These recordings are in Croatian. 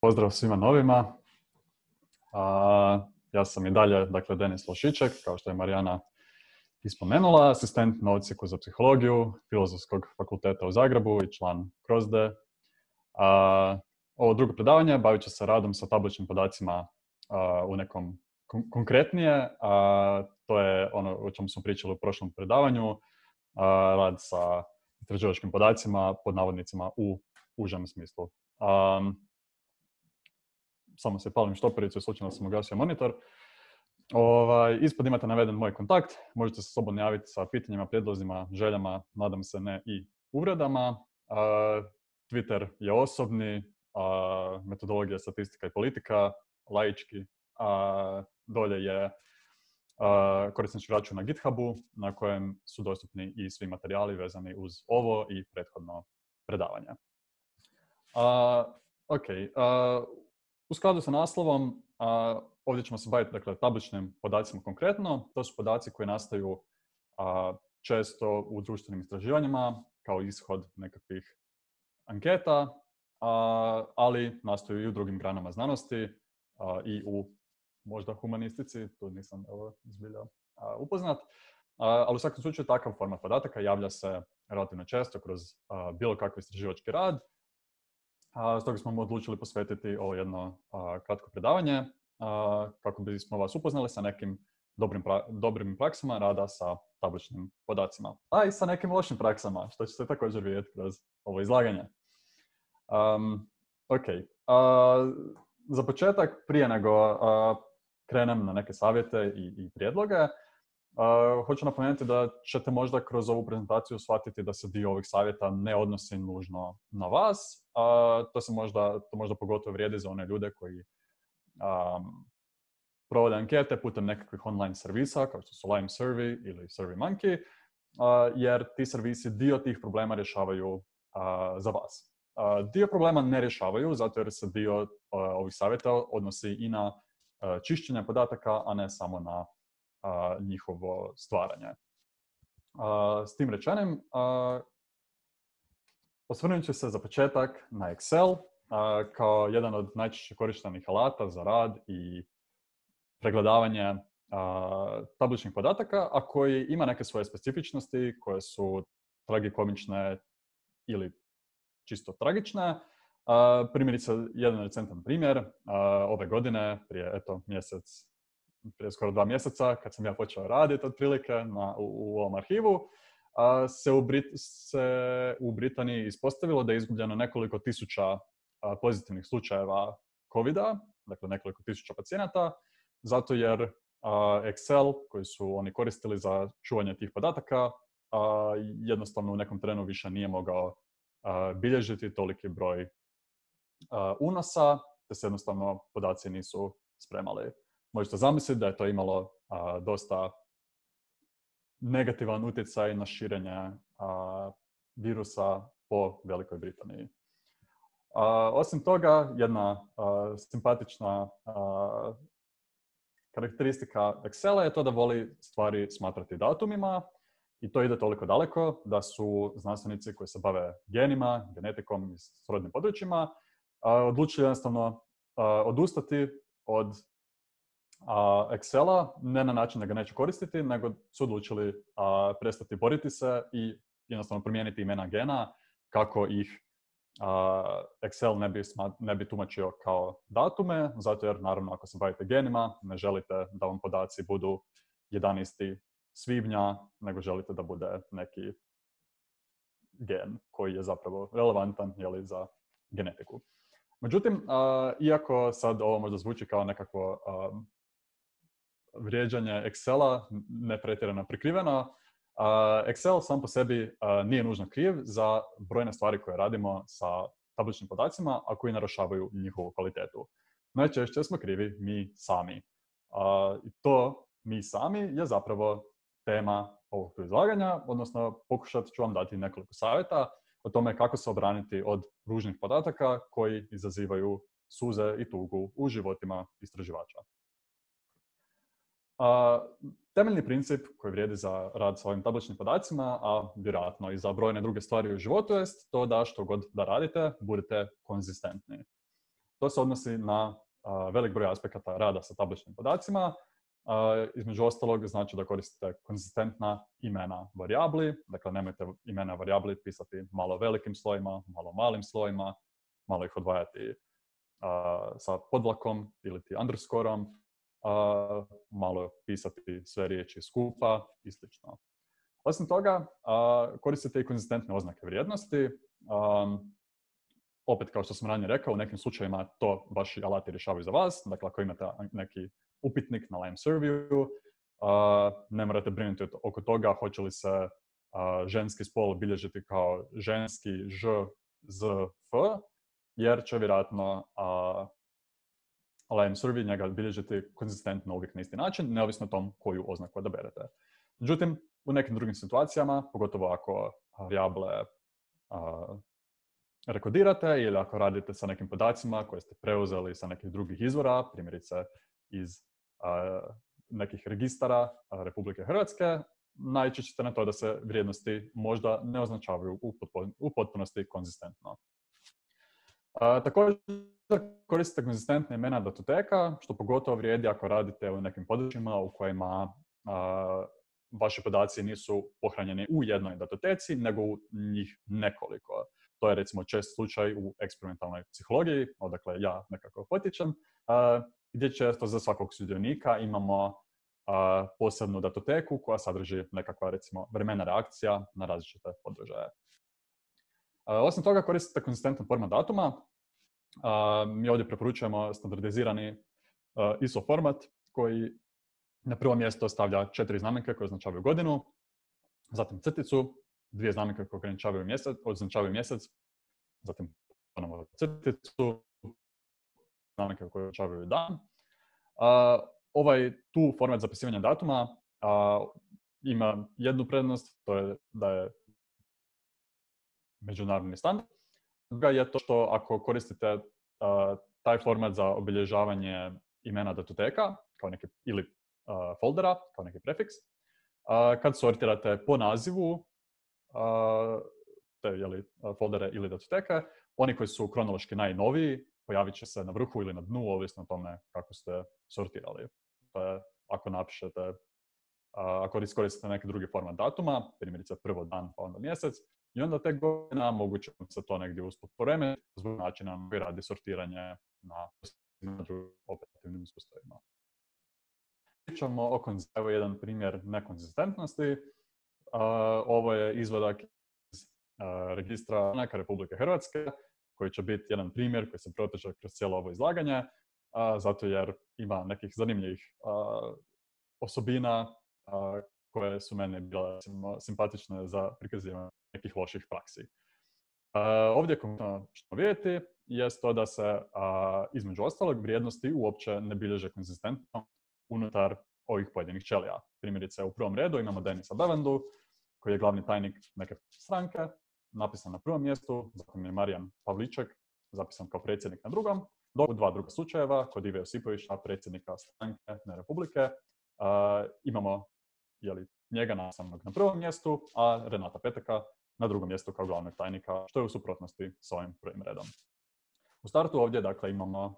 Pozdrav svima novima. Ja sam i dalje, Denis Lošiček, kao što je Marijana ispomenula, asistent na Odsjeku za psihologiju Filozofskog fakulteta u Zagrebu i član CROSDE. Ovo drugo predavanje bavit će se radom sa tabličnim podacima u nekom konkretnije. To je ono o čemu smo pričali u prošlom predavanju, rad sa istraživačkim podacima, pod navodnicima u užem smislu. Samo se palim štopericu i slučajno sam ugasio monitor. Ispod imate naveden moj kontakt. Možete se slobodno javiti sa pitanjima, prijedlozima, željama, nadam se ne i uvredama. Twitter je osobni, metodologija statistika i politika, laički. Dolje je korisnički račun na GitHubu na kojem su dostupni i svi materijali vezani uz ovo i prethodno predavanje. U skladu sa naslovom, ovdje ćemo se baviti tabličnim podacima konkretno. To su podaci koji nastaju često u društvenim istraživanjima kao ishod nekakvih anketa, ali nastaju i u drugim granama znanosti i u možda humanistici, tu nisam zbilja upoznat. Ali u svakom slučaju takav format podataka javlja se relativno često kroz bilo kakav istraživački rad. Stoga smo odlučili posvetiti ovo jedno kratko predavanje kako bismo vas upoznali sa nekim dobrim praksama rada sa tabličnim podacima, a i sa nekim lošim praksama, što ćete također vidjeti kroz ovo izlaganje. Za početak, prije nego krenem na neke savjete i prijedloge, hoću napomenuti da ćete možda kroz ovu prezentaciju shvatiti da se dio ovih savjeta ne odnosi nužno na vas. To možda pogotovo vrijedi za one ljude koji provode ankete putem nekakvih online servisa, kao što su Lime Survey ili SurveyMonkey, jer ti servisi dio tih problema rješavaju za vas. Dio problema ne rješavaju, zato jer se dio ovih savjeta odnosi i na čišćenje podataka, a ne samo na njihovo stvaranje. S tim rečenim, osvrnut ću se za početak na Excel kao jedan od najčešće korištenih alata za rad i pregledavanje tabličnih podataka, a koji ima neke svoje specifičnosti koje su tragikomične ili čisto tragične. Primjerice, jedan recentan primjer, ove godine, prije skoro 2 mjeseca, kad sam ja počeo raditi otprilike u ovom arhivu, se u Britaniji ispostavilo da je izgubljeno nekoliko tisuća pozitivnih slučajeva COVID-a, dakle nekoliko tisuća pacijenata, zato jer Excel, koji su oni koristili za čuvanje tih podataka, jednostavno u nekom trenu više nije mogao bilježiti toliki broj unosa, te se jednostavno podaci nisu spremali. Možete zamisliti da je to imalo dosta negativan utjecaj na širenje virusa po Velikoj Britaniji. Osim toga, jedna simpatična karakteristika Excela je to da voli stvari smatrati datumima, i to ide toliko daleko da su znanstvenici koji se bave genima, genetikom i srodnim područjima odlučili jednostavno odustati od Excela, ne na način da ga neće koristiti, nego su odlučili prestati boriti se i jednostavno promijeniti imena gena kako ih Excel ne bi tumačio kao datume, zato jer naravno ako se bavite genima ne želite da vam podaci budu 11. svibnja, nego želite da bude neki gen koji je zapravo relevantan za genetiku. Međutim, iako sad ovo možda zvuči kao nekakvo vrijeđanje Excela, ne pretjerano prikriveno, Excel sam po sebi nije nužno kriv za brojne stvari koje radimo sa tabličnim podacima, a koji narušavaju njihovu kvalitetu. Najčešće smo krivi mi sami. I to mi sami je zapravo tema ovog izlaganja, odnosno pokušat ću vam dati nekoliko savjeta o tome kako se obraniti od ružnih podataka koji izazivaju suze i tugu u životima istraživača. Temeljni princip koji vrijedi za rad sa ovim tabličnim podacima, a vjerojatno i za brojne druge stvari u životu, jest to da što god da radite, budete konzistentni. To se odnosi na velik broj aspekata rada sa tabličnim podacima. Između ostalog znači da koristite konzistentna imena varijabli, dakle nemojte imena varijabli pisati malo velikim slojima, malo malim slojima, malo ih odvajati sa podvlakom ili underscoreom, malo pisati sve riječi skupa i slično. Osim toga, koristite i konzistentne oznake vrijednosti. Opet, kao što sam ranije rekao, u nekim slučajevima to vaši alati rješavaju za vas. Dakle, ako imate neki upitnik na Lime Surveyu, ne morate brinuti oko toga hoće li se ženski spol bilježiti kao ženski ž, z, f, jer će vjerojatno Lime Survey njega bilježiti konzistentno uvijek na isti način, neovisno o tom koju oznaku odaberete. Međutim, u nekim drugim situacijama, pogotovo ako varijable rekodirate ili ako radite sa nekim podacima koje ste preuzeli sa nekih drugih izvora, primjerice iz nekih registara Republike Hrvatske, naići ćete na to da se vrijednosti možda ne označavaju u potpunosti konzistentno. Također koristite konzistentne imena datoteka, što pogotovo vrijedi ako radite u nekim područjima u kojima vaši podaci nisu pohranjeni u jednoj datoteci, nego u njih nekoliko. To je recimo čest slučaj u eksperimentalnoj psihologiji, odakle ja nekako potičem, gdje često za svakog sudionika imamo posebnu datoteku koja sadrži nekakva recimo vremena reakcija na različite podržaje. Osim toga koristite konzistentan format datuma. Mi ovdje preporučujemo standardizirani ISO format koji na prvo mjesto stavlja 4 znamenke koje označavaju godinu, zatim crticu, 2 znamenke koje označavaju mjesec, zatim ponovo crticu, znamenke koje označavaju dan. Ovaj tu format zapisivanja datuma ima jednu prednost, to je da je međunarodni standard. Druga je to što ako koristite taj format za obilježavanje imena datoteka kao neki, ili foldera, kao neki prefiks, kad sortirate po nazivu te foldere ili datoteke, oni koji su kronološki najnoviji pojavit će se na vrhu ili na dnu, ovisno o tome kako ste sortirali. To je ako napišete, ako iskoristite neki drugi format datuma, primjerice prvo dan pa onda mjesec, i onda te godina moguće se to negdje usput poremetiti zbog načina na koji radi sortiranje na operativnim sustavima. Pričamo o evo jedan primjer nekonzistentnosti. Ovo je izvadak iz registra banaka Republike Hrvatske, koji će biti jedan primjer koji se proteže kroz cijelo ovo izlaganje, zato jer ima nekih zanimljivih osobina koje su meni bile simpatične za prikazivanje nekih loših praksi. Ovdje što vidjeti je to da se između ostalog vrijednosti uopće ne bilježe konzistentno unutar ovih pojedinih ćelija. Primjerice, u prvom redu imamo Denisa Bevandu, koji je glavni tajnik neke stranke, napisan na prvom mjestu, zatim je Marijan Pavliček, zapisan kao predsjednik na drugom, dok u 2 druga slučajeva, kod Ive Josipovića, predsjednika stranke ne Republike, imamo njega napisanog na prvom mjestu, a Renata Peteka na drugom mjestu kao glavnog tajnika, što je u suprotnosti s ovim prvim redom. U startu ovdje dakle imamo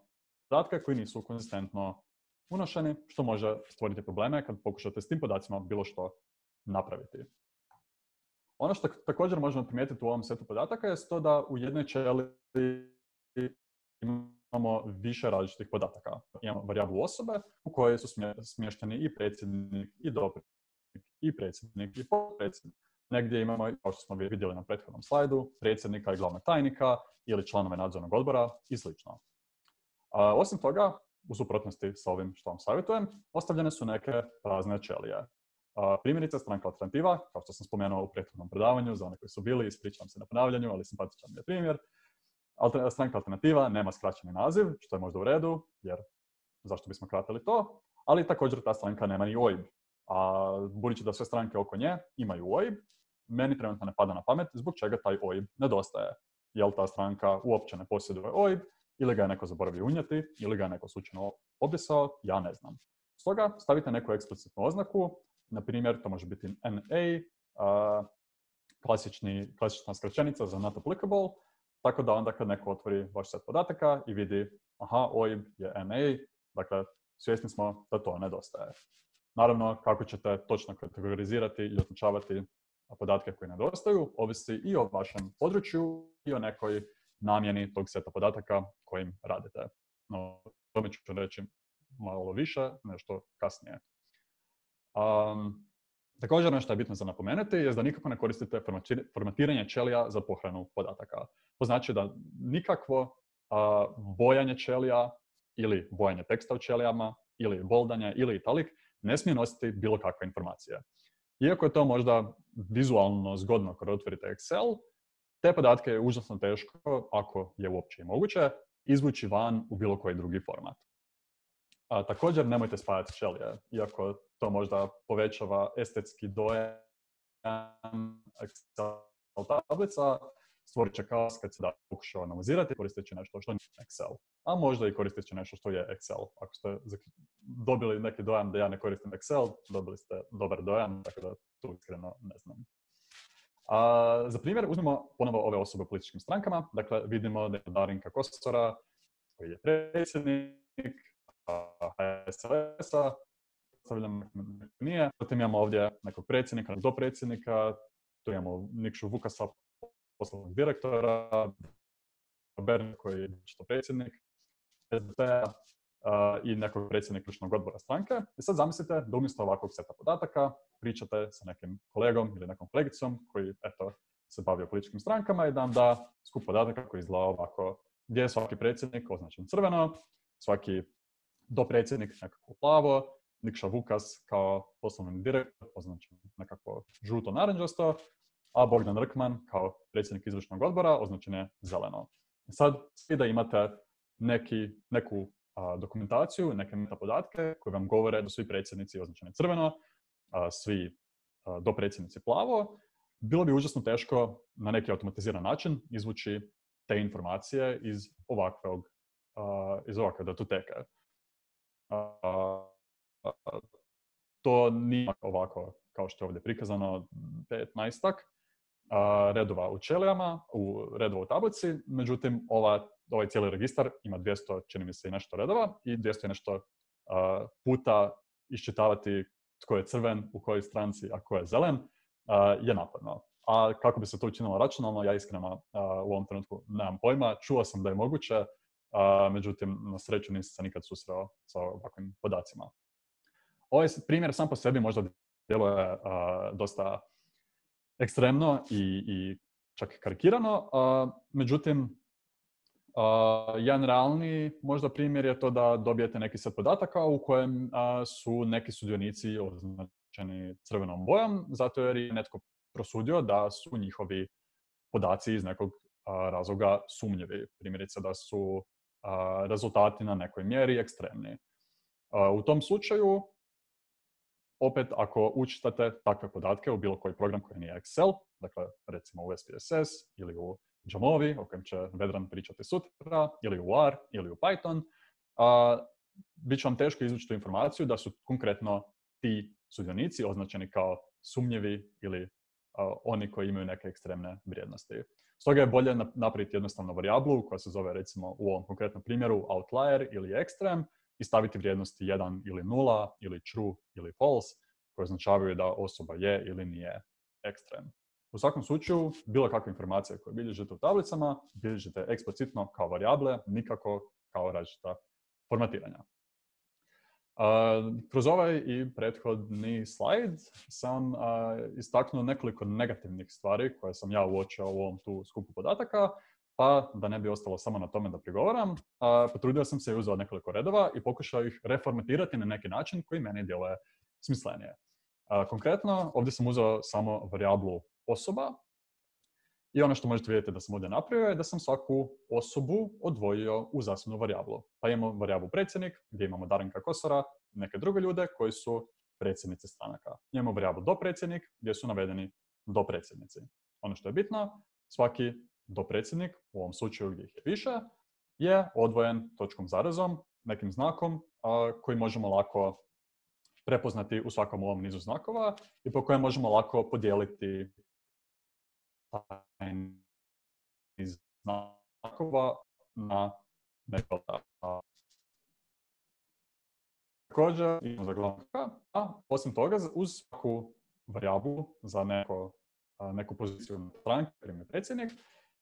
podatke koji nisu konzistentno unošeni, što može stvoriti probleme kad pokušate s tim podacima bilo što napraviti. Ono što također možemo primijetiti u ovom setu podataka je to da u jednoj ćeliji imamo više različitih podataka. Imamo varijablu osobe u kojoj su smješteni i predsjednik, i dopredsjednik, i predsjednik, i potpredsjednik. Negdje imamo, kao što smo vidjeli na prethodnom slajdu, predsjednika i glavnog tajnika ili članove nadzornog odbora i sl. Osim toga, u suprotnosti sa ovim što vam savjetujem, ostavljene su neke prazne ćelije. Primjerice, stranka alternativa, kao što sam spomenuo u prethodnom predavanju, za one koji su bili, ispričavam se na ponavljanju, ali simpatičan je primjer. Stranka alternativa nema skraćeni naziv, što je možda u redu, jer zašto bismo kratili to, ali također ta stranka nema ni OIB. A budući da sve stranke oko nje imaju OIB, meni trenutno ne pada na pamet zbog čega taj OIB nedostaje. Jel ta stranka uopće ne posjeduje OIB, ili ga je neko zaboravio unijeti, ili ga je neko slučajno obrisao, ja ne znam. Stoga stavite neku eksplicitnu oznaku, na primjer to može biti NA, klasična skraćenica za not applicable, tako da onda kad neko otvori vaš set podataka i vidi aha, OIB je NA, dakle, svjesni smo da to nedostaje. Naravno, kako ćete točno kategorizirati i označavati podatke koji nedostaju, ovisi i o vašem području i o nekoj namjeni tog seta podataka kojim radite. No, o tome ću reći malo više, nešto kasnije. Također, nešto je bitno za napomenuti je da nikako ne koristite formatiranje ćelija za pohranu podataka. To znači da nikakvo bojanje ćelija ili bojanje teksta u ćelijama ili boldanje ili italik ne smije nositi bilo kakve informacije. Iako je to možda vizualno zgodno kada otvorite Excel, te podatke je užasno teško, ako je uopće i moguće, izvući van u bilo koji drugi format. Također, nemojte spajati ćelije, iako to možda povećava estetski dojam Excel tablica, stvorit će kaos kad se da pokušao analizirati koristeći nešto što nije Excel. A možda i koristeći nešto što je Excel. Ako ste dobili neki dojam da ja ne koristim Excel, dobili ste dobar dojam, tako da tu iskreno ne znam. Za primjer, uzmemo ponovo ove osobe u političkim strankama. Dakle, vidimo da je Darinka Kosora, koji je predsjednik HSLS-a, nije. Zatim imamo ovdje nekog predsjednika, dopredsjednika, tu imamo Nikšu Vukasa, poslovnog direktora, Bern koji je predsjednik SDP-a i nekog predsjednika ključnog odbora stranke. I sad zamislite da umjesto ovakvog seta podataka pričate sa nekim kolegom ili nekom kolegicom koji se bavi političkim strankama i da vam da skup podataka koji izgleda ovako, gdje je svaki predsjednik označen crveno, svaki dopredsjednik nekako plavo, Nikša Vukas kao poslovni direktor označen nekako žuto-naranđasto, a Bogdan Rkman kao predsjednik izvršnog odbora označen je zeleno. Sad, svi da imate neku dokumentaciju, neke metapodatke koje vam govore da svi predsjednici označeni crveno, svi dopredsjednici plavo, bilo bi užasno teško na neki automatiziran način izvući te informacije iz ovakve datoteke. To nije ovako kao što je ovdje prikazano 15-ak redova u ćelijama, redova u tablici, međutim ovaj cijeli registar ima 200, čini mi se, i nešto redova i 200 i nešto puta iščitavati tko je crven, u kojoj stranci, a tko je zelen, je naporno. A kako bi se to učinilo računalno, ja iskreno u ovom trenutku nemam pojma. Čuo sam da je moguće, međutim, na sreću nisam se nikad susreo sa ovakvim podacima. Ovaj primjer sam po sebi možda djeluje dosta ekstremno i čak karikirano, međutim, jedan realni možda primjer je to da dobijete neki set podataka u kojem su neki sudionici označeni crvenom bojom, zato jer je netko prosudio da su njihovi podaci iz nekog razloga sumnjivi. Primjerice da su rezultati na nekoj mjeri ekstremni. U tom slučaju, opet, ako učitate takve podatke u bilo koji program koji nije Excel, dakle, recimo u SPSS ili u Jamovi, o kojem će Vedran pričati sutra, ili u R, ili u Python, bit će vam teško izvući tu informaciju da su konkretno ti sudionici označeni kao sumnjivi ili oni koji imaju neke ekstremne vrijednosti. Stoga je bolje napraviti jednostavnu varijablu koja se zove, recimo, u ovom konkretnom primjeru outlier ili extreme i staviti vrijednosti 1 ili 0 ili true ili false koje označavaju da osoba je ili nije ekstrem. U svakom slučaju, bilo kakve informacije koje bilježite u tablicama, bilježite eksplicitno kao varijable, nikako kao različita formatiranja. Kroz ovaj i prethodni slajd sam istaknuo nekoliko negativnih stvari koje sam ja uočio u ovom tu skupu podataka, pa da ne bi ostalo samo na tome da prigovaram, potrudio sam se i uzeo nekoliko redova i pokušao ih reformatirati na neki način koji meni djeluje smislenije. Konkretno, ovdje sam uzeo samo varijablu osoba i ono što možete vidjeti da sam ovdje napravio je da sam svaku osobu odvojio u zasebnu varijablu. Pa imamo varijablu predsjednik gdje imamo Darinka Kosora i neke druge ljude koji su predsjednici stranaka. Imamo varijablu dopredsjednik gdje su navedeni dopredsjednici. Ono što je bitno, svaki dopredsjednik, u ovom slučaju gdje ih je više, je odvojen točkom zarezom, nekim znakom koji možemo lako prepoznati u svakom ovom nizu znakova i po kojem možemo lako podijeliti taj niz znakova na neko također imamo za glavnog, a osim toga uz svaku varijablu za neku poziciju stranke, primjer predsjednik,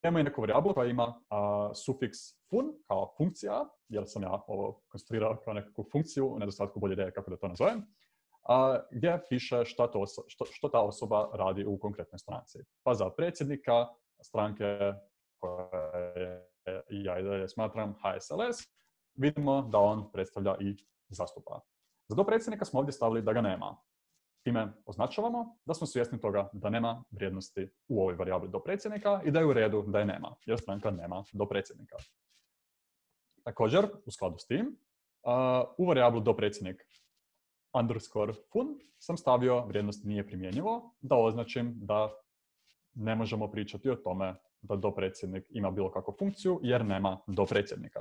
ima i neku varijablu koja ima sufiks fun kao funkcija, jer sam ja ovo konstruirao kao nekakvu funkciju, u nedostatku bolje ideje kako da to nazovem, gdje piše što ta osoba radi u konkretnoj stranci. Pa za predsjednika stranke koje ja i dalje smatram HSLS, vidimo da on predstavlja i zastupa. Za dopredsjednika smo ovdje stavili da ga nema. Time označavamo da smo svjesni toga da nema vrijednosti u ovoj varijabli dopredsjednika i da je u redu da je nema, jer stranka nema dopredsjednika. Također, u skladu s tim, u varijablu dopredsjednik underscore fun sam stavio vrijednost nije primjenjivo, da označim da ne možemo pričati o tome da dopredsjednik ima bilo kakvu funkciju, jer nema dopredsjednika.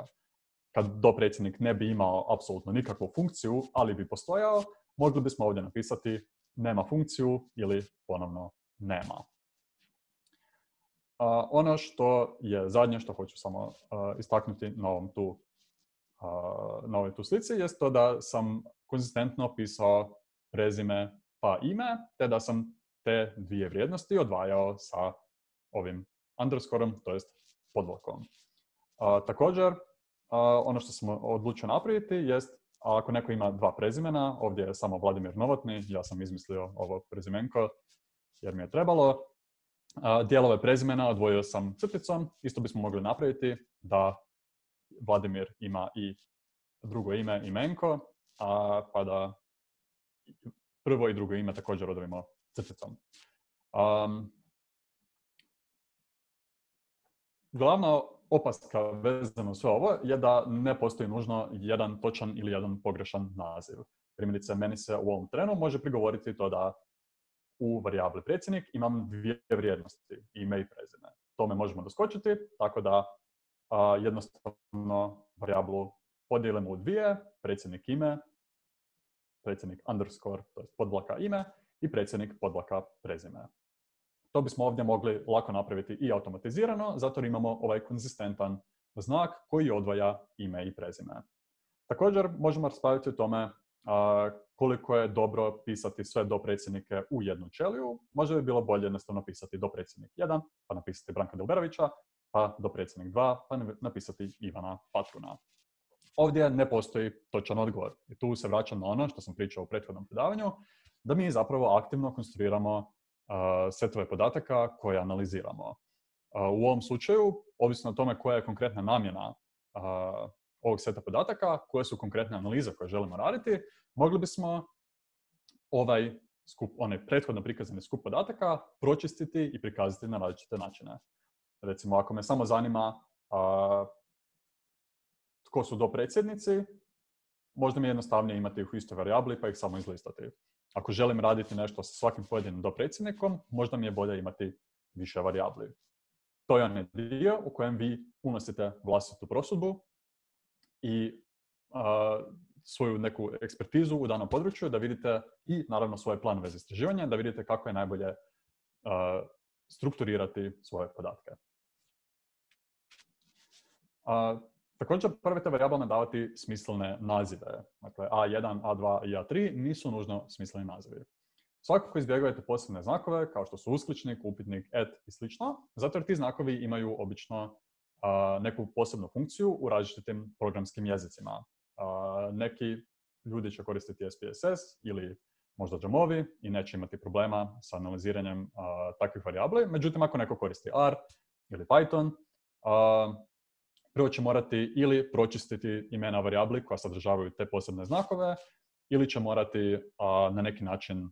Kad dopredsjednik ne bi imao apsolutno nikakvu funkciju, ali bi postojao, mogli bismo ovdje napisati nema funkciju ili ponovno nema. Ono što je zadnje što hoću samo istaknuti na ovoj tu slici jest to da sam konzistentno pisao prezime pa ime, te da sam te dvije vrijednosti odvajao sa ovim underscoreom, to jest podvlakom. Također, ono što sam odlučio napraviti jest, ako neko ima dva prezimena, ovdje je samo Vladimir Novotny, ja sam izmislio ovo prezimenko jer mi je trebalo. Dijelove prezimena odvojio sam crticom, isto bismo mogli napraviti da Vladimir ima i drugo ime imenko, pa da prvo i drugo ime također odvojimo crticom. Glavna opaska vezano sve ovo je da ne postoji nužno jedan točan ili jedan pogrešan naziv. Primjerice, meni se u ovom trenu može prigovoriti to da u varijabli predsjednik imam dvije vrijednosti, ime i prezime. Tome možemo doskočiti, tako da jednostavno varijablu podijelimo u dvije, predsjednik ime, predsjednik underscore, to je podvlaka ime, i predsjednik podvlaka prezime. To bismo ovdje mogli lako napraviti i automatizirano, zato imamo ovaj konzistentan znak koji odvaja ime i prezime. Također možemo raspraviti o tome koliko je dobro pisati sve dopredsjednike u jednu ćeliju. Možda bi bilo bolje jednostavno pisati dopredsjednik 1, pa napisati Branka Delberovića, pa dopredsjednik 2, pa napisati Ivana Patruna. Ovdje ne postoji točan odgovor. I tu se vraćam na ono što sam pričao u prethodnom predavanju, da mi zapravo aktivno konstruiramo setove podataka koje analiziramo. U ovom slučaju, ovisno o tome koja je konkretna namjena ovog seta podataka, koje su konkretne analize koje želimo raditi, mogli bismo onaj prethodno prikazani skup podataka pročistiti i prikazati na različite načine. Recimo, ako me samo zanima tko su dopredsjednici, možda mi je jednostavnije imati ih u istoj varijabli pa ih samo izlistati. Ako želim raditi nešto sa svakim pojedinim dopredsjednikom, možda mi je bolje imati više varijabli. To je onaj dio u kojem vi unosite vlastitu prosudbu i svoju neku ekspertizu u danom području, da vidite i naravno svoje planove za istraživanje, da vidite kako je najbolje strukturirati svoje podatke. Također, probajte varijablama davati smislene nazive. Dakle, A1, A2 i A3 nisu nužno smisleni nazivi. Svakako izbjegavajte posebne znakove, kao što su uskličnik, upitnik, i sl. Zato jer ti znakovi imaju obično neku posebnu funkciju u različitim programskim jezicima. Neki ljudi će koristiti SPSS ili možda Jamovi i neće imati problema sa analiziranjem takvih varijabli. Međutim, ako neko koristi R ili Python, prvo će morati ili pročistiti imena varijabli koja sadržavaju te posebne znakove, ili će morati na neki način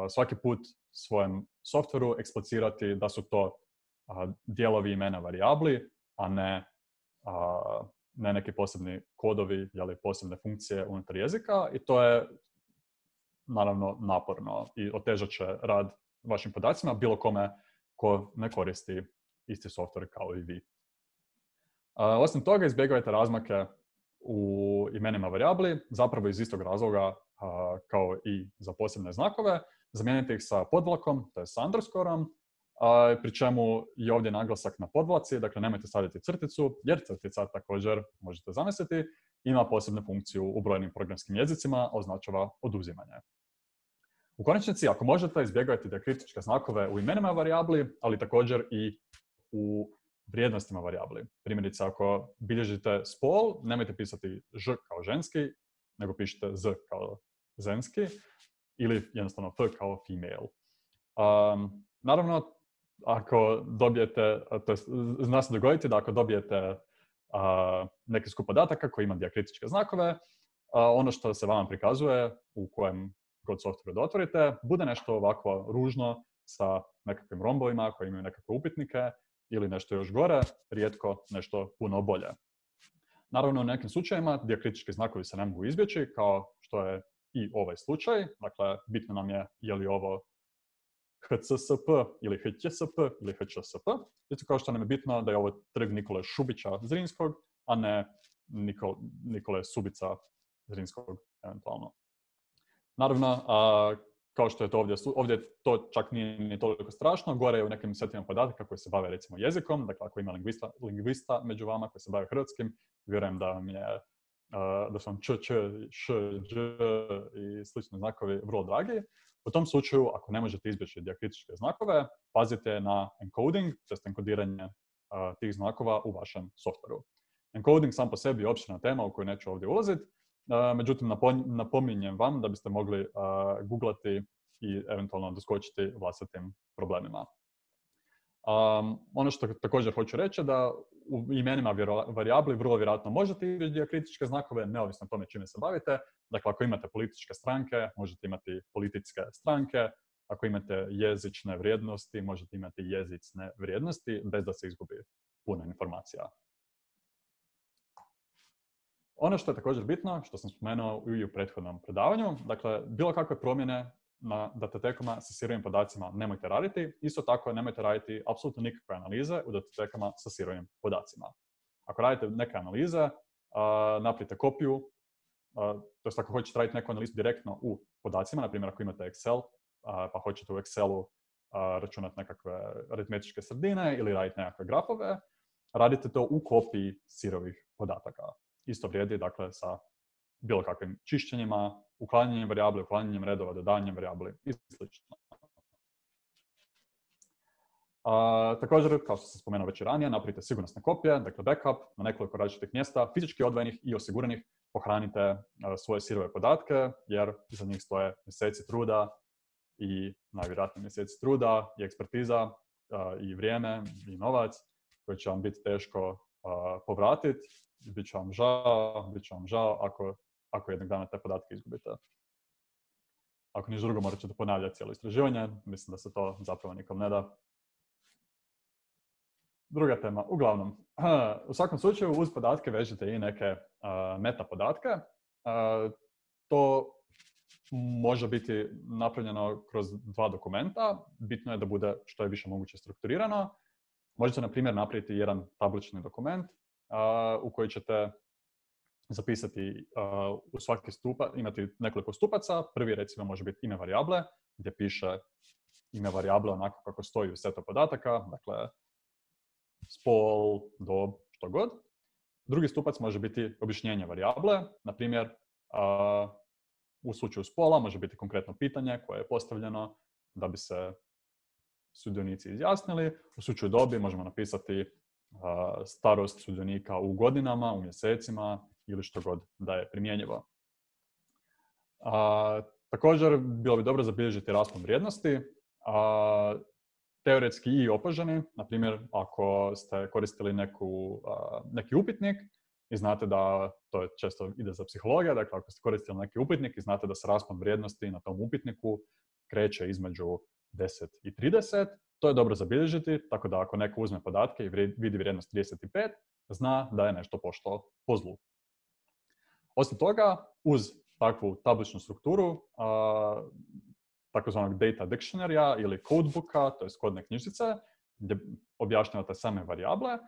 svaki put svojem softveru eksplicirati da su to dijelovi imena varijabli, a ne neki posebni kodovi ili posebne funkcije unutar jezika. I to je naravno naporno i otežat će rad vašim podacima bilo kome ko ne koristi isti softver kao i vi. Osim toga, izbjegavajte razmake u imenima varijabli, zapravo iz istog razloga kao i za posebne znakove. Zamijenite ih sa podvlakom, to je sa underscoreom, pri čemu je ovdje naglasak na podvlaci, dakle nemojte staviti crticu, jer crtica također možete zamisliti, ima posebnu funkciju u brojnim programskim jezicima, označava oduzimanje. U konačnici, ako možete, izbjegajte dijakritičke znakove u imenima varijabli, ali također i u vrijednostima varijabli. Primjerice, ako bilježite spol, nemojte pisati ž kao ženski, nego pišite z kao ženski ili jednostavno f kao female. Naravno, ako dobijete, to je, zna se dogoditi da ako dobijete neki skup podataka koji ima dijakritičke znakove, ono što se vama prikazuje u kojem god software da otvorite, bude nešto ovako ružno sa nekakvim rombovima koji imaju nekakve upitnike ili nešto još gore, rijetko nešto puno bolje. Naravno, u nekim slučajevima dijakritički znakovi se ne mogu izbjeći, kao što je i ovaj slučaj. Dakle, bitno nam je li ovo HCSP ili HČSP ili HČSP. Isto kao što nam je bitno da je ovo trg Nikole Šubića Zrinskog, a ne Nikole Subica Zrinskog eventualno. Naravno, kao što je to ovdje to čak nije ni toliko strašno. Gore je u nekim setima podataka koji se bave recimo jezikom. Dakle, ako ima lingvista među vama koji se bave hrvatskim, vjerujem da vam da su vam č, š, dž i slični znakovi vrlo dragi. U tom slučaju, ako ne možete izbjeći dijakritičke znakove, pazite na encoding, tj. enkodiranje tih znakova u vašem softveru. Encoding sam po sebi je opširna tema u koju neću ovdje ulaziti. Međutim, napominjem vam da biste mogli googlati i eventualno doskočiti vlastitim problemima. Ono što također hoću reći je da u imenima varijabli vrlo vjerojatno možete izbjeći dijakritičke znakove, neovisno o tome čime se bavite. Dakle, ako imate političke stranke, možete imati političke stranke. Ako imate jezične vrijednosti, možete imati jezicne vrijednosti bez da se izgubi puno informacija. Ono što je također bitno, što sam spomenuo i u prethodnom predavanju, dakle, bilo kakve promjene na datotekama sa sirovim podacima nemojte raditi. Isto tako nemojte raditi apsolutno nikakve analize u datotekama sa sirovim podacima. Ako radite neke analize, napravite kopiju, to jest ako hoćete raditi neku analizu direktno u podacima, na primjer ako imate Excel, pa hoćete u Excelu računati nekakve aritmetičke sredine ili raditi nekakve grafove, radite to u kopiji sirovih podataka. Isto vrijedi, dakle, sa bilo kakvim čišćenjima, uklanjanjem varijabli, uklanjanjem redova, dodavanjem varijabli i sl. Također, kao što sam spomenuo već i ranije, napravite sigurnosne kopije, dakle backup na nekoliko različitih mjesta, fizički odvojenih i osiguranih. Pohranite svoje sirove podatke, jer iza njih stoje mjeseci truda i najvjerojatnije mjeseci truda i ekspertiza i vrijeme i novac koji će vam biti teško povratiti. Bit će vam žao ako jednog dana te podatke izgubite. Ako ništa drugo, morat ćete ponavljati cijelo istraživanje. Mislim da se to zapravo nikom ne da. Druga tema. Uglavnom, u svakom slučaju uz podatke vežite i neke meta podatke. To može biti napravljeno kroz dva dokumenta. Bitno je da bude što je više moguće strukturirano. Možete, na primjer, napraviti jedan tablični dokument u koji ćete zapisati u svaki stupac, imati nekoliko stupaca. Prvi, recimo, može biti ime varijable, gdje piše ime varijable onako kako stoji u setu podataka, dakle, spol, dob, što god. Drugi stupac može biti objašnjenje varijable, na primjer, u slučaju spola može biti konkretno pitanje koje je postavljeno da bi se sudionici izjasnili. U slučaju dobi možemo napisati starost sudionika u godinama, u mjesecima ili što god da je primjenjivo. Također, bilo bi dobro zabilježiti raspon vrijednosti, teoretski i opoženi. Na primjer, ako ste koristili neki upitnik i znate da, to je često ide za psihologija, dakle ako ste koristili neki upitnik i znate da se raspon vrijednosti na tom upitniku kreće između 10 i 30, to je dobro zabilježiti, tako da ako neko uzme podatke i vidi vrijednost 35, zna da je nešto pošlo po zlu. Osim toga, uz takvu tabličnu strukturu, takozvanog data dictionary-a ili codebooka, to je kodne knjižice, gdje objašnjavate same varijable,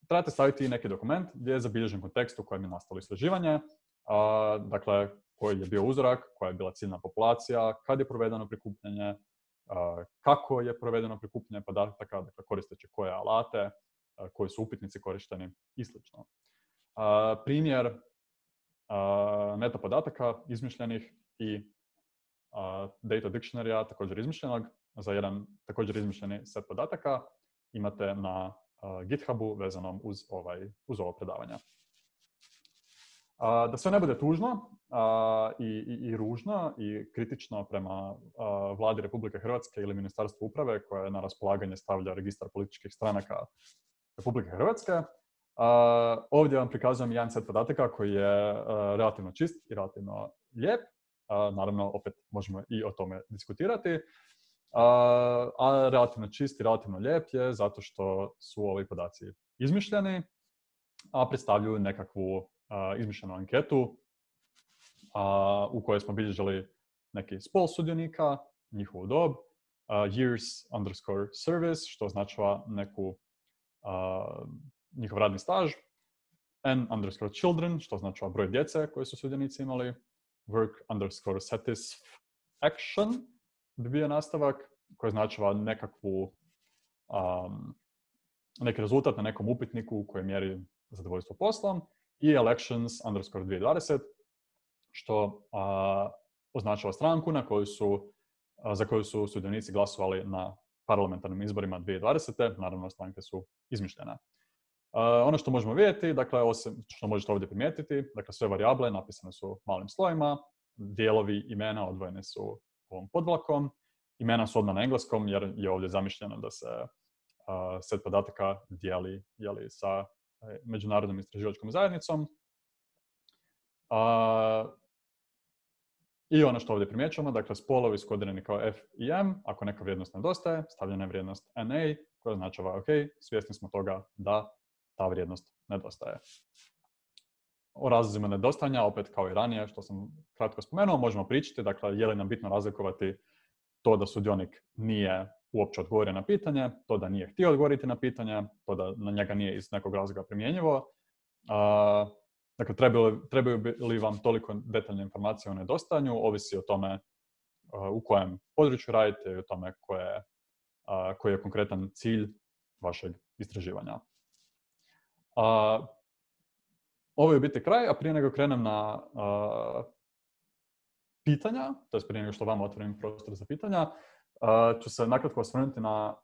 trebate staviti i neki dokument gdje je zabilježen kontekst u kojem je nastalo istraživanje, dakle, koji je bio uzorak, koja je bila ciljna populacija, kad je provedeno prikupljanje, kako je provedeno prikupljanje podataka, dakle koristeći koje alate, koji su upitnici korišteni i sl. Primjer meta podataka izmišljenih i data dictionary-a također izmišljenog za jedan također izmišljeni set podataka imate na GitHubu vezanom uz ovo predavanje. Da sve ne bude tužno i ružno i kritično prema vladi Republike Hrvatske ili Ministarstvu uprave koje na raspolaganje stavlja registar političkih stranaka Republike Hrvatske, ovdje vam prikazujem jedan set podataka koji je relativno čist i relativno lijep. Naravno, opet možemo i o tome diskutirati. A relativno čist i relativno lijep je zato što su ovi podaci izmišljeni, a predstavljaju nekakvu izmišljenu anketu u kojoj smo bilježili neki spol sudionika, njihovu dob, years_service, što označava njihov radni staž, n_children, što označava broj djece koje su sudionici imali, work_satisfaction bi bio nastavak, koji označava neki rezultat na nekom upitniku koji mjeri zadovoljstvo poslom, i elections_2020, što označava stranku za koju su sudionici glasovali na parlamentarnim izborima 2020. Naravno, stranke su izmišljene. Ono što možemo vidjeti, dakle, osim što možete ovdje primijetiti, dakle, sve varijable napisane su malim slovima, dijelovi imena odvojeni su ovom podvlakom, imena su odmah na engleskom jer je ovdje zamišljeno da se set podataka dijeli sa međunarodnom istraživačkom zajednicom. I ono što ovdje primjećujemo, dakle, spolovi su kodirani kao F i M, ako neka vrijednost nedostaje, stavljena je vrijednost NA, koja označava OK, svjesni smo toga da ta vrijednost nedostaje. O razlozima nedostajanja, opet kao i ranije, što sam kratko spomenuo, možemo pričati, dakle, je li nam bitno razlikovati to da sudionik nije uopće odgovorio na pitanje, to da nije htio odgovoriti na pitanje, to da na njega nije iz nekog razloga primjenjivo. Dakle, trebaju li vam toliko detaljne informacije o nedostajanju, ovisi o tome u kojem području radite i o tome koji je konkretan cilj vašeg istraživanja. Ovo je u biti kraj, a prije nego krenem na pitanja, to je prije nego što vam otvorim prostor za pitanja, ću se nakratko osvrnuti na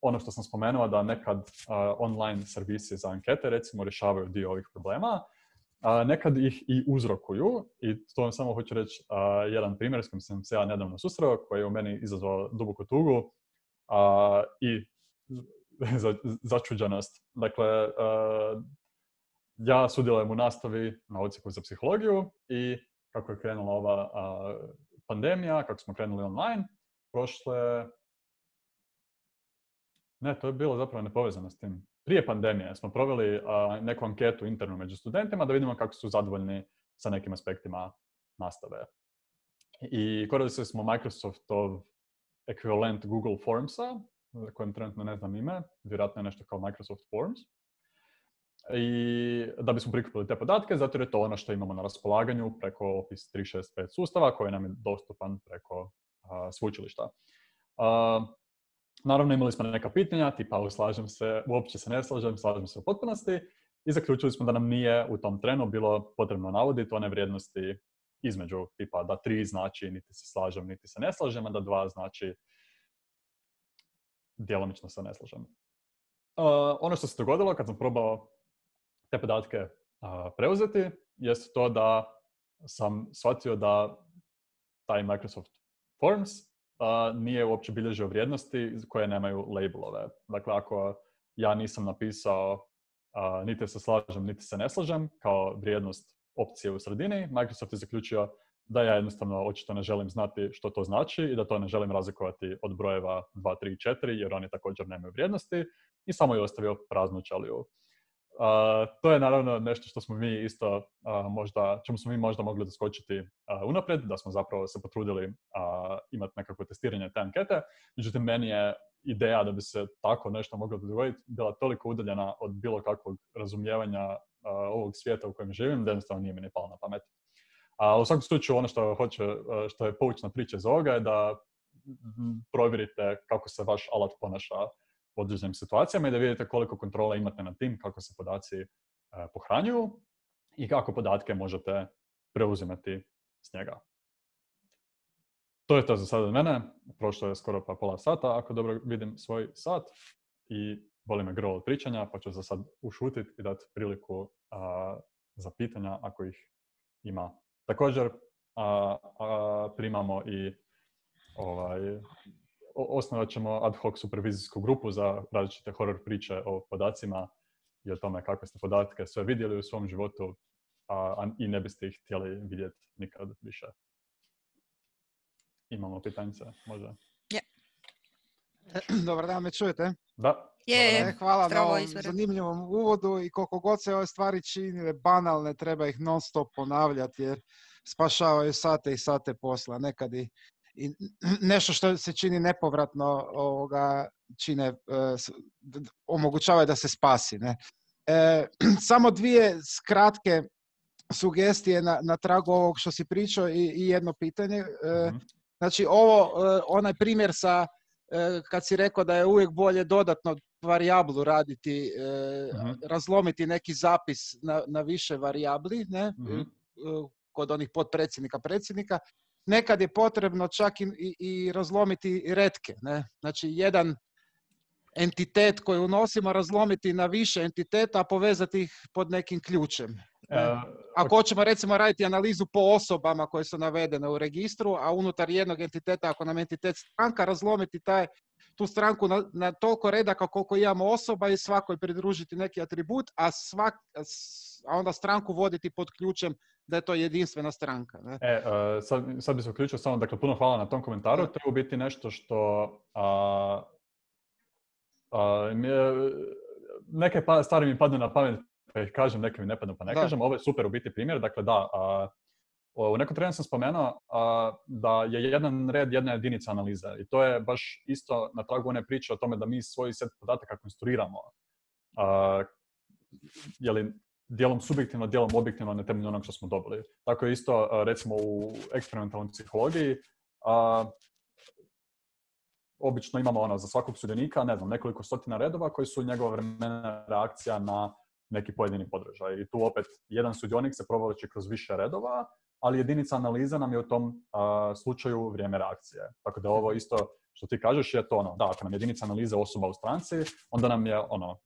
ono što sam spomenuo, da nekad online servisi za ankete, recimo, rješavaju dio ovih problema. Nekad ih i uzrokuju, i to vam samo hoću reći jedan primjer s kojim sam se ja nedavno susreo, koji je u meni izazvao duboku tugu i začuđenost. Dakle, ja sudjelujem u nastavi na odsjeku za psihologiju i kako je krenula ova pandemija, kako smo krenuli online, to je bilo zapravo nepovezano s tim. Prije pandemije smo proveli neku anketu internu među studentima da vidimo kako su zadovoljni sa nekim aspektima nastave. I koristili smo Microsoftov ekvivalent Google Formsa, za kojem trenutno ne znam ime, vjerojatno je nešto kao Microsoft Forms. I da bismo prikupili te podatke, zato je to ono što imamo na raspolaganju preko Office 365 sustava koji nam je dostupan preko sveučilišta. Naravno, imali smo neka pitanja, tipa slažem se, uopće se ne slažem se u potpunosti, i zaključili smo da nam nije u tom trenu bilo potrebno navoditi one vrijednosti između, tipa da 3 znači niti se slažem, niti se ne slažem, a da 2 znači djelomično se ne slažem. Ono što se dogodilo kad sam probao te podatke preuzeti, jest to da sam shvatio da taj Microsoft Forms nije uopće bilježio vrijednosti koje nemaju labelove. Dakle, ako ja nisam napisao niti se slažem, niti se ne slažem kao vrijednost opcije u sredini, Microsoft je zaključio da ja jednostavno očito ne želim znati što to znači i da to ne želim razlikovati od brojeva 2, 3, 4, jer oni također nemaju vrijednosti, i samo je ostavio praznu ćeliju. To je naravno nešto što smo mi isto čemu smo mi možda mogli doskočiti unaprijed, da smo zapravo se potrudili imati nekakvo testiranje te ankete. Međutim, meni je ideja da bi se tako nešto moglo dogoditi bila toliko udaljena od bilo kakvog razumijevanja ovog svijeta u kojem živim, da jednostavno nije mi ni palo na pamet. U svakom slučaju, ono što je poučna priča iz ovoga je da provjerite kako se vaš alat ponaša u određenim situacijama i da vidite koliko kontrole imate nad tim, kako se podaci pohranjuju i kako podatke možete preuzimati s njega. To je to za sada od mene. Prošlo je skoro pa pola sata, ako dobro vidim svoj sat. I boli me grlo od pričanja, pa ću za sad ušutiti i dati priliku za pitanja ako ih ima. Također primamo i osnovat ćemo ad hoc supervizijsku grupu za različite horor priče o podacima i o tome kakve ste podatke sve vidjeli u svom životu i ne biste ih htjeli vidjeti nikad više. Imamo pitanje, može? Dobar dan, me čujete? Da. Hvala na ovom zanimljivom uvodu i koliko god se ove stvari činile banalne, treba ih non stop ponavljati jer spašavaju sate i sate posla. Nekad i nešto što se čini nepovratno čine, omogućava da se spasi. Ne? Samo dvije kratke sugestije na tragu ovog što si pričao i jedno pitanje. Znači onaj primjer sa kad si rekao da je uvijek bolje dodatno varijablu raditi, razlomiti neki zapis na više varijabli, ne? Kod onih potpredsjednika, predsjednika, nekad je potrebno čak i razlomiti retke. Ne? Znači jedan entitet koji unosimo razlomiti na više entiteta, a povezati ih pod nekim ključem. Ako hoćemo recimo raditi analizu po osobama koje su navedene u registru, a unutar jednog entiteta, ako nam entitet stranka, razlomiti tu stranku na toliko redaka koliko imamo osoba i svakoj pridružiti neki atribut, a onda stranku voditi pod ključem da je to jedinstvena stranka. Ne? Sad bi se uključio samo, dakle, puno hvala na tom komentaru. To je u biti nešto što neke stvari mi padnu na pamet pa ih kažem, neke mi ne padnu pa ne kažem. Ovo je super u biti primjer. Dakle, u nekom trenutku sam spomenuo da je jedan red jedna jedinica analize. I to je baš isto na tragu one priče o tome da mi svoj set podataka konstruiramo. Dijelom subjektivno, dijelom objektivno na temelju onog što smo dobili. Tako je isto, recimo, u eksperimentalnoj psihologiji. Obično imamo za svakog sudionika, nekoliko stotina redova koji su njegova vremena reakcija na neki pojedini podržaj. I tu opet jedan sudionik se provlači kroz više redova, ali jedinica analize nam je u tom slučaju vrijeme reakcije. Tako da ovo isto što ti kažeš je to da, ako nam jedinica analize osoba u stranci, onda nam je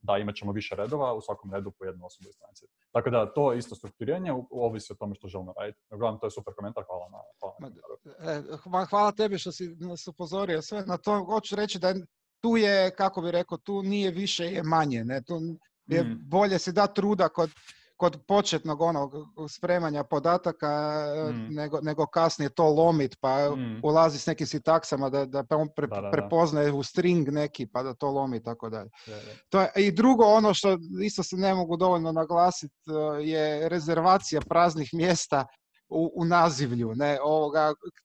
da, imat ćemo više redova, u svakom redu po jednu osobu u stranci. Tako da to isto strukturiranje ovisi o tome što želimo raditi. Uglavnom, to je super komentar, hvala na komentaru. Hvala tebi što si nas upozorio sve na to. Hoću reći da tu je, kako bih rekao, tu nije više je manje. Ne? Tu je bolje si dati truda kod početnog spremanja podataka nego kasnije to lomit pa ulazi s nekim sintaksama da on prepoznaje u string neki pa da to lomi tako dalje. I drugo, ono što isto se ne mogu dovoljno naglasiti je rezervacija praznih mjesta u nazivlju. Ne?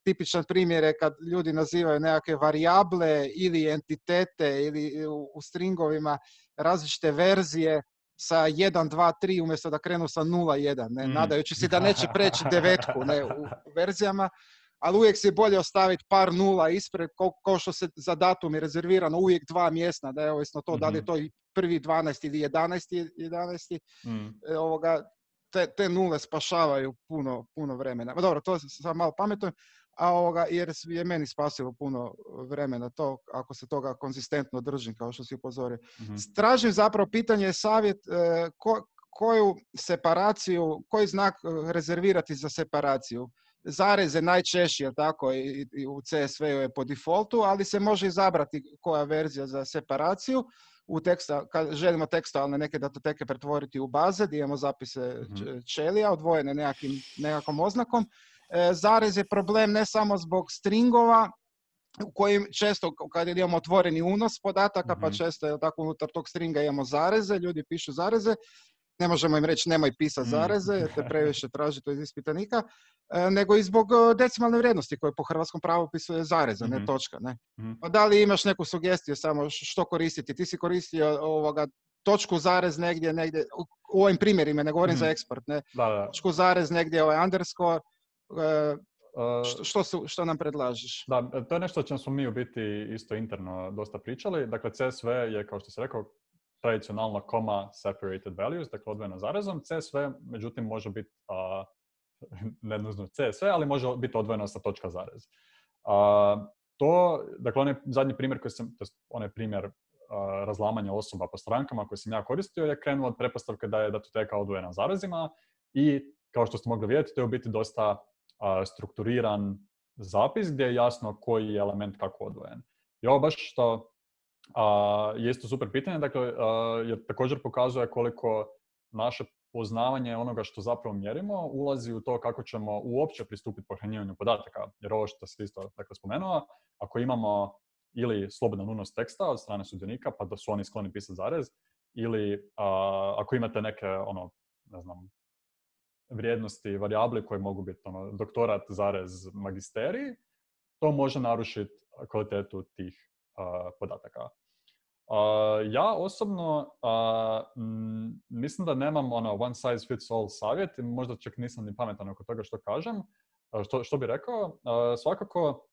Tipičan primjer je kad ljudi nazivaju nekakve varijable ili entitete ili u stringovima različite verzije sa 1, 2, 3 umjesto da krenu sa 0, 1, nadajući se da neće preći 9 u verzijama, ali uvijek se bolje ostaviti par nula ispred, kao što se za datum je rezervirano uvijek 2 mjesta, da je ovisno to da li je to i 1.12. ili 11. Te nule spašavaju puno vremena. Dobro, to sam malo pametujem, jer je meni spasilo puno vremena to, ako se toga konzistentno držim, kao što si upozorio. Tražim zapravo pitanje, savjet, koju separaciju, koji znak rezervirati za separaciju. Zareze najčešće, je tako, i u CSV-u je po defaultu, ali se može izabrati koja verzija za separaciju. Kad želimo tekstualne neke datoteke pretvoriti u baze, gdje imamo zapise ćelija, odvojene nekakvom oznakom. Zarez je problem ne samo zbog stringova, u kojim često, kad imamo otvoreni unos podataka, pa često je tako unutar tog stringa imamo zareze, ljudi pišu zareze, ne možemo im reći nemoj pisati zareze, jer te previše traži to iz ispitanika, nego i zbog decimalne vrijednosti koje po hrvatskom pravopisu je zareza, ne točka. Ne? Pa da li imaš neku sugestiju samo što koristiti? Ti si koristio točku zarez negdje, u ovim primjerima, ne govorim za eksport, ne? Točku zarez negdje underscore, Što nam predlažeš? Da, to je nešto o čem smo mi u biti isto interno dosta pričali. Dakle, CSV je, kao što se rekao, tradicionalno comma separated values, dakle odvojeno zarezom. CSV, međutim, može biti ne nužno CSV, ali može biti odvojeno sa točka zarez. Dakle, onaj zadnji primjer onaj primjer razlamanja osoba po strankama koji sam ja koristio je krenuo od pretpostavke da je datoteka odvojena zarezima i, kao što ste mogli vidjeti, to je u biti dosta strukturiran zapis gdje je jasno koji je element kako odvojen. I ovo baš što je isto super pitanje, dakle, jer također pokazuje koliko naše poznavanje onoga što zapravo mjerimo ulazi u to kako ćemo uopće pristupiti pohranjivanju podataka. Jer ovo što se isto spomenuo, ako imamo ili slobodan unos teksta od strane sudionika, pa da su oni skloni pisati zarez, ili ako imate neke, vrijednosti, varijabli koje mogu biti doktorat, zarez, magisterij, to može narušiti kvalitetu tih podataka. Ja osobno mislim da nemam one size fits all savjet i možda čak nisam ni pametan oko toga što kažem. Što bi rekao? Svakako,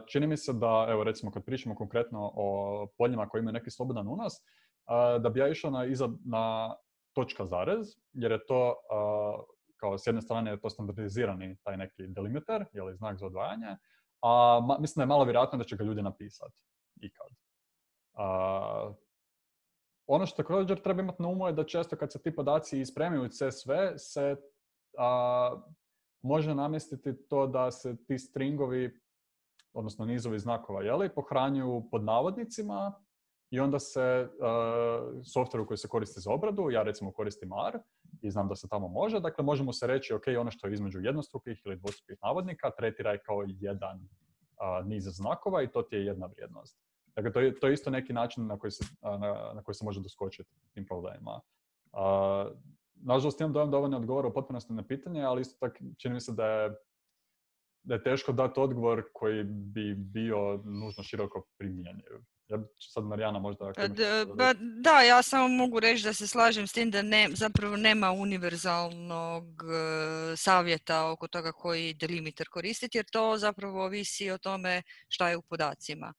čini mi se da, evo recimo kad pričamo konkretno o poljima koji imaju neki slobodan unos, da bi ja išao na točka zarez, jer je to, kao s jedne strane je to standardizirani taj neki delimiter, ili znak za odvajanje, a mislim da je malo vjerojatno da će ga ljudi napisati ikad. Ono što također treba imati na umu je da često kad se ti podaci ispremaju u CSV se može namjestiti to da se ti stringovi, odnosno nizovi znakova, pohranjuju pod navodnicima i onda se softveru koji se koristi za obradu, ja recimo koristim R i znam da se tamo može, dakle možemo se reći ok, ono što je između jednostrukih ili dvostrukih navodnika tretiraj kao jedan niz znakova i to ti je jedna vrijednost. Dakle, to je isto neki način na koji se može doskočiti tim problemima. Nažalost, imam dojam da ovo ne odgovara u potpunosti na pitanje, ali isto tako čini mi se da je teško dati odgovor koji bi bio nužno široko primjenjiv. Ja sad Marijana možda... Da, ja samo mogu reći da se slažem s tim da zapravo nema univerzalnog savjeta oko toga koji delimiter koristiti, jer to zapravo ovisi o tome šta je u podacima.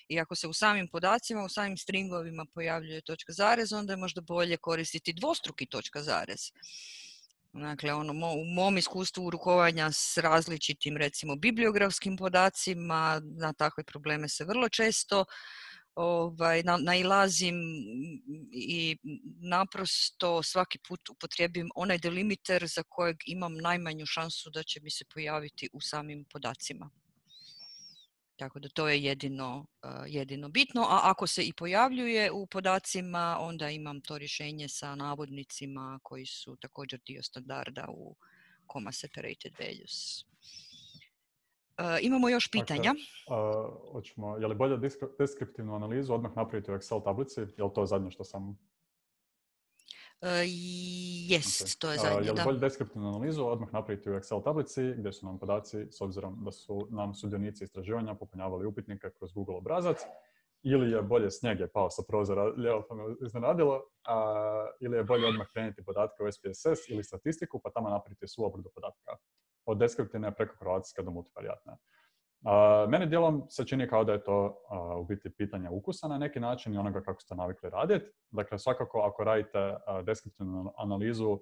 I ako se u samim podacima, u samim stringovima pojavljuje točka zarez, onda je možda bolje koristiti dvostruki točka zarez. Dakle, u mom iskustvu rukovanja s različitim, recimo, bibliografskim podacima, na takve probleme se vrlo često nailazim i naprosto svaki put upotrijebim onaj delimiter za kojeg imam najmanju šansu da će mi se pojaviti u samim podacima. Tako da to je jedino bitno, a ako se i pojavljuje u podacima, onda imam to rješenje sa navodnicima koji su također dio standarda u comma separated values. Imamo još pitanja. Je li bolje deskriptivnu analizu odmah napraviti u Excel tablici? Je li to zadnje što sam... Jest, to je zadnje, da. Je li bolje deskriptivnu analizu odmah napraviti u Excel tablici gdje su nam podaci, s obzirom da su nam sudionici istraživanja popunjavali upitnike kroz Google obrazac, ili je bolje snijeg je pao sa prozora, lijevo pa me iznenadilo, ili je bolje odmah prenijeti podatke u SPSS ili statistiku pa tamo napraviti svu obradu podatka. Od deskriptivne preko korelacijske do multivariatne. Meni dijelom se čini kao da je to u biti pitanje ukusa na neki način i onoga kako ste navikli raditi. Dakle, svakako ako radite deskriptivnu analizu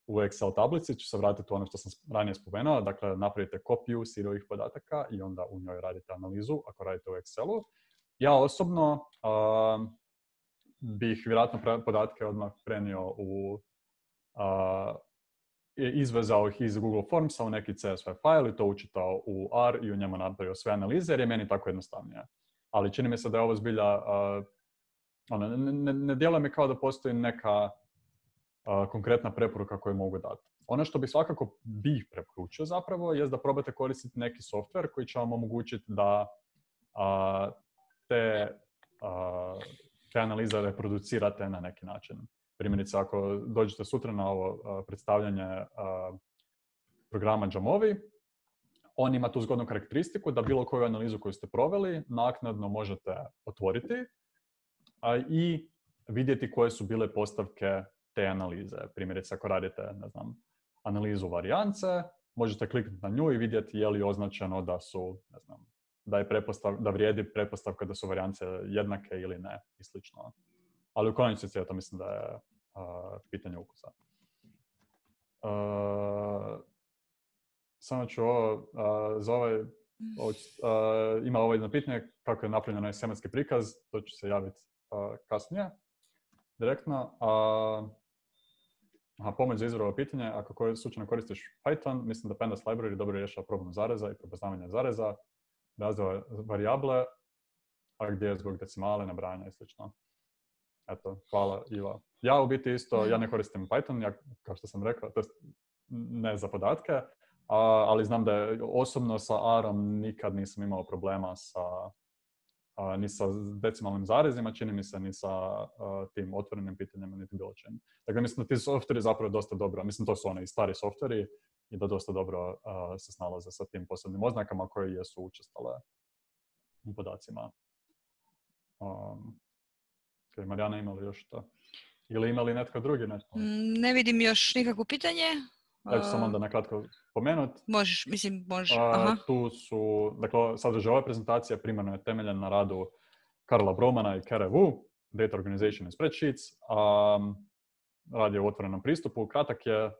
u Excel tablici, ću se vratiti u ono što sam ranije spomenuo. Dakle, napravite kopiju sirovih podataka i onda u njoj radite analizu ako radite u Excelu. Ja osobno bih vjerojatno podatke odmah prenio izvezao ih iz Google Formsa u neki CSV file i to učitao u R i u njemu napravio sve analize jer je meni tako jednostavnije. Ali čini mi se da je ovo zbilja, ne djeluje mi kao da postoji neka konkretna preporuka koju mogu dati. Ono što bi svakako bih preporučio zapravo je da probate koristiti neki software koji će vam omogućiti da te analize reproducirate na neki način. Primjerice, ako dođete sutra na ovo predstavljanje programa Jamovi, on ima tu zgodnu karakteristiku da bilo koju analizu koju ste proveli naknadno možete otvoriti i vidjeti koje su bile postavke te analize. Primjerice, ako radite, analizu varijance, možete kliknuti na nju i vidjeti je li označeno da su, ne znam, da vrijedi pretpostavka da su varijance jednake ili ne i slično. Ali u konačnici ja to mislim da je pitanje ukusa. Samo ću ovo, za ovaj, ima ovo jedno pitanje kako je napravljeno ovaj semanski prikaz, to ću se javiti kasnije, direktno. Pomoć za izvor ovo pitanje, ako slučajno koristiš Python, mislim da Pandas library dobro rješava problem zareza i prepoznavanja zareza, razvoja varijable, a gdje je zbog decimale, nabrajanja i slično. Eto, hvala Iva. Ja u biti isto, ja ne koristim Python, ja, kao što sam rekao, to ne za podatke, ali znam da je osobno sa R-om nikad nisam imao problema ni sa decimalnim zarezima, čini mi se, ni sa tim otvorenim pitanjima, niti bilo čim. Dakle, mislim da ti softveri zapravo dosta dobro, mislim to su oni stari softveri i da dosta dobro se snalaze sa tim posebnim oznakama koje jesu učestale u podacima. Marijana, ima li još to? Ili ima li netko drugi? Ne vidim još nikakvo pitanje. Ja ću samo onda nakratko pomenuti. Možeš. Tu su, dakle, sadržaj ove prezentacije primarno je temeljen na radu Karla Bromana i Kere Wu, Data Organization and Spreadsheets. Rad je u otvorenom pristupu, kratak je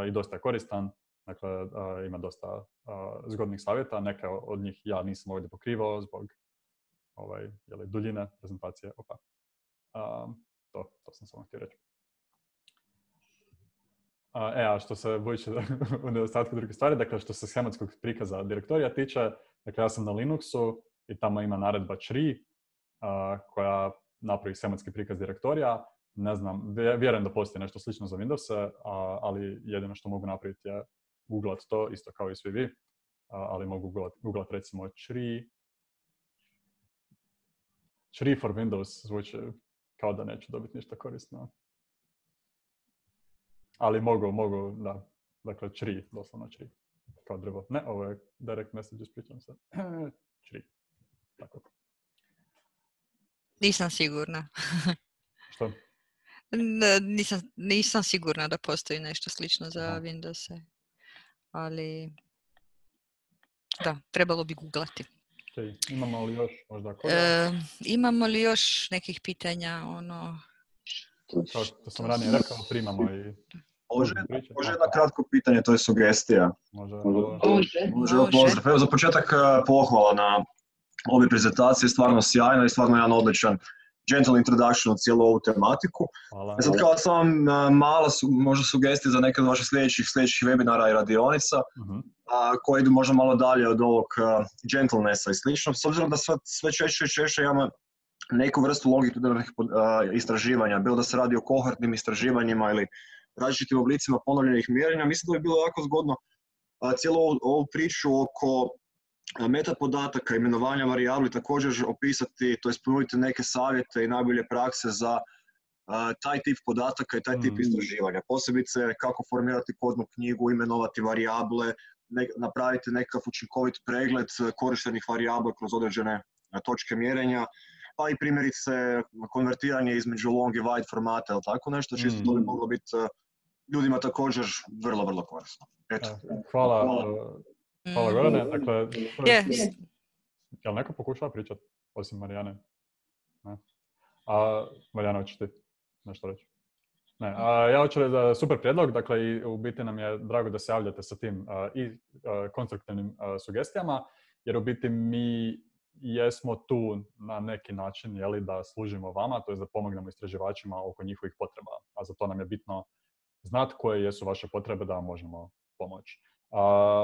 i dosta je koristan. Dakle, ima dosta zgodnih savjeta. Neke od njih ja nisam ovdje pokrivao zbog duljine prezentacije. To sam samo htio reći. A što se budući u nedostatku drugih stvari, dakle što se schematskog prikaza direktorija tiče, dakle ja sam na Linuxu i tamo ima naredba CHRI koja napravi schematski prikaz direktorija. Ne znam, vjerujem da postoji nešto slično za Windows, ali jedino što mogu napraviti je googlat to, isto kao i svi vi, ali mogu googlat recimo CHRI for Windows, zvuči kao da neću dobiti ništa korisno. Ali mogu, da. Dakle, CHRI, doslovno CHRI. Kao drvo. Ne, ovo je direct message, ispričam se. CHRI. Tako. Nisam sigurna. Što? Nisam sigurna da postoji nešto slično za Windows. Ali, da, trebalo bi googlati. Okay. Imamo li još možda imamo li još nekih pitanja? Kao što sam ranije rekao, primamo i... Može jedno kratko pitanje, to je sugestija. Može. Pozdrav. Evo za početak pohvala na ove prezentacije, stvarno sjajno i stvarno jedan odličan gentle introduction u cijelu ovu tematiku. Hvala. Sad kao sam mala možda sugestija za neke od vaših sljedećih webinara i radionica, koje idu možda malo dalje od ovog gentlenessa i slično. S obzirom da sve češće imamo neku vrstu longitudinalnih istraživanja, bilo da se radi o kohortnim istraživanjima ili različitim oblicima ponovljenih mjerenja, mislim da bi bilo jako zgodno cijelu ovu priču oko metapodataka, imenovanja varijabli također opisati, to jest ponuditi neke savjete i najbolje prakse za taj tip podataka i taj tip istraživanja. Posebice kako formirati kodnu knjigu, imenovati varijable, napraviti nekakav učinkovit pregled korištenih varijabla kroz određene točke mjerenja, pa i primjerice konvertiranje između long i wide formata ili tako nešto, čisto to bi moglo biti ljudima također vrlo, vrlo korisno. Eto. Hvala Gorane. Dakle, jel neko pokušava pričati osim Marijane? Ne. Marijana, hoćeš ti nešto reći? Ne. Ja hoću reći da super prijedlog, dakle i u biti nam je drago da se javljate sa tim i konstruktivnim sugestijama, jer u biti mi jesmo tu na neki način, jeli, da služimo vama, to je da pomognemo istraživačima oko njihovih potreba, a za to nam je bitno znati koje jesu vaše potrebe da vam možemo pomoći.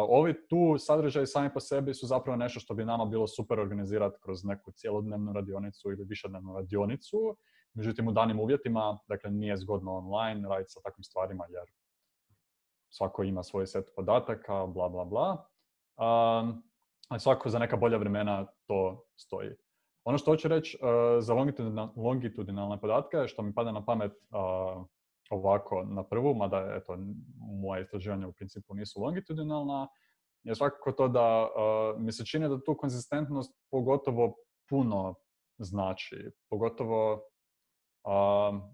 Ovi tu sadržaji sami po sebi su zapravo nešto što bi nama bilo super organizirati kroz neku cijelodnevnu radionicu ili višednevnu radionicu. Međutim, u danim uvjetima, dakle, nije zgodno online raditi sa takvim stvarima jer svako ima svoj set podataka, bla, bla, bla. Ali svako za neka bolja vremena to stoji. Ono što hoću reći za longitudinalne podatke, što mi pada na pamet ovako na prvu, mada eto, moje istraživanja u principu nisu longitudinalna, je svakako to da mi se čini da tu konzistentnost pogotovo puno znači. Pogotovo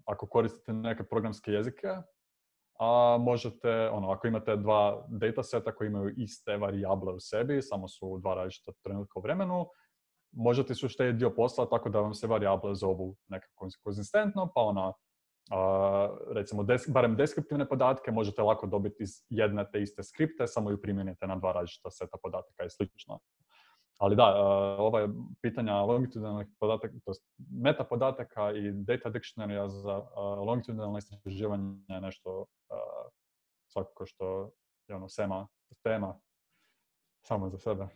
ako koristite neke programske jezike, a možete, ako imate dva dataseta koji imaju iste varijable u sebi, samo su dva različita trenutka u vremenu, možete su uštediti dio posla tako da vam se varijable zovu nekako konzistentno, pa recimo barem deskriptivne podatke možete lako dobiti iz jedne te iste skripte, samo ju primijenite na dva različita seta podataka i slično. Ali da, ova pitanja longitudinalnih podataka, to meta podataka i data dictionary za longitudinalne istraživanje je nešto svakako što je tema sama za sebe.